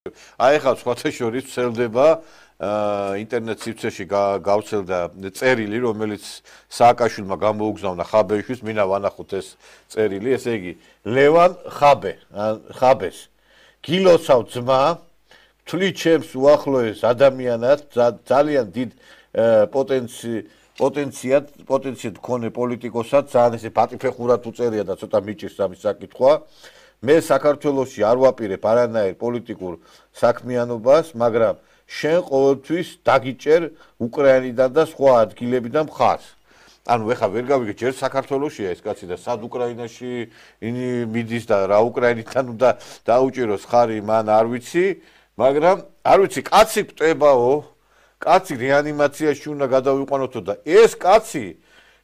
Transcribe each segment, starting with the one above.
აი ახლა სხვათა შორის ვრცელდება ინტერნეტ სივრცეში გავრცელდა წერილი, რომელიც სააკაშვილმა გამოუგზავნა ხაბეშვილს, მინდა ვანახოთ ეს წერილი, ესე იგი ლევან ხაბეს გილოცავ ძმა, თვლი ჩემს უახლოეს ადამიანად, ძალიან დიდ პოტენციად მქონე პოლიტიკოსად, ძალიან ესე პატიფეხურად უწერია და ცოტა მიჭირს ამის საკითხვა. მე საქართველოში არ ვაპირებ არანაირ პოლიტიკურ საქმიანობას, მაგრამ შენ ყოველთვის დაგიჭერ უკრაინიდან და სხვა ადგილებიდან მხარს. ანუ ეხლა ვერ გავიგე, ჯერ საქართველოშია ეს კაცი და სად უკრაინაში მიდის და რა უკრაინიდან უნდა დაუჭიროს ხარი, მან არ ვიცი, მაგრამ არ ვიცი, კაცი გვტებაო, კაცი რეანიმაციაში უნდა გადავიყვანოთო და ეს კაცი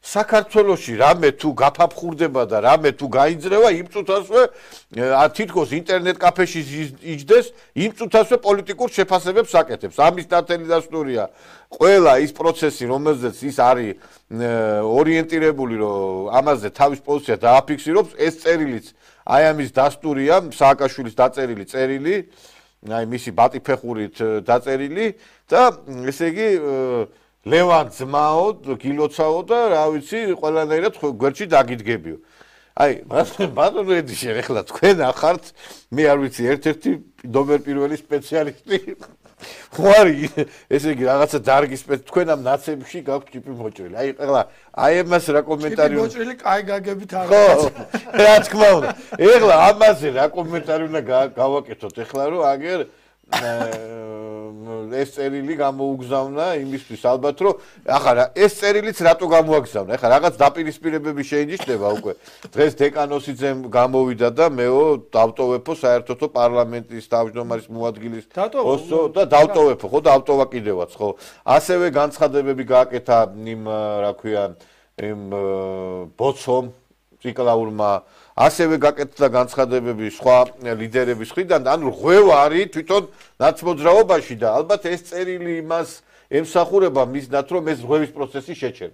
საქართველოში რამე თუ გაფაფხურდება და რამე თუ გაიძრევა, იმ წუთასვე თითქოს ინტერნეტ კაფეში იჯდეს, იმ წუთასვე პოლიტიკურ შეფასებებს აკეთებს. ამის ნათელი დასტურია ყველა ის პროცესი, რომელზეც ის არის ორიენტირებული, რომ ამაზე თავის პოზიცია დააფიქსიროს, ეს წერილიც აი ამის დასტურია, სააკაშვილის დაწერილი წერილი, აი მისი ბატიფეხურით დაწერილი და ესე იგი ლევან ძმაო, გილოცავო და რა ვიცი, ყველანაირად გვერდში დაგიდგებიო. აი, ბატონო ედიშენ, ეხლა თქვენ ახართ, მე არ ვიცი, ერთ-ერთი ნომერ პირველი სპეციალისტი. ხوارი, ესე იგი, რაღაცა დარგის თქვენ ამ ნაცებში გაქვთ ჭიპი მოჭრილი. აი, ეხლა აი ამას რა კომენტარი ჭიპი მოჭრილი კაი გაგებით არ არის. ხო, რა თქმა უნდა. ეხლა ამაზე რა კომენტარი უნდა გავაკეთოთ, ეხლა რომ აგერ ეს წერილი გამოუგზავნა იმისთვის ალბათ რომ ახლა ეს წერილიც რატო გამოაგზავნა ახლა რაღაც დაპირისპირებები შეინიშნება უკვე დღეს დეკანოსიძემ გამოვიდა და მეო დავტოვებო საერთოდო პარლამენტის თავმჯდომარის მოადგილის პოსტო და დავტოვებო ხო და ავტოვა კიდევაც ხო ასევე განცხადებები გააკეთა იმ რა ქვია იმ ბოცომ ციკლაურმა ასევე გაკეთდა განცხადებები სხვა ლიდერების მხრიდან, ანუ ღვევა არის თვითონ ნაცმოძრაობაში და ალბათ ეს წერილი იმას ემსახურება მისდათ, რომ ეს ღვევის პროცესი შეჩერდა.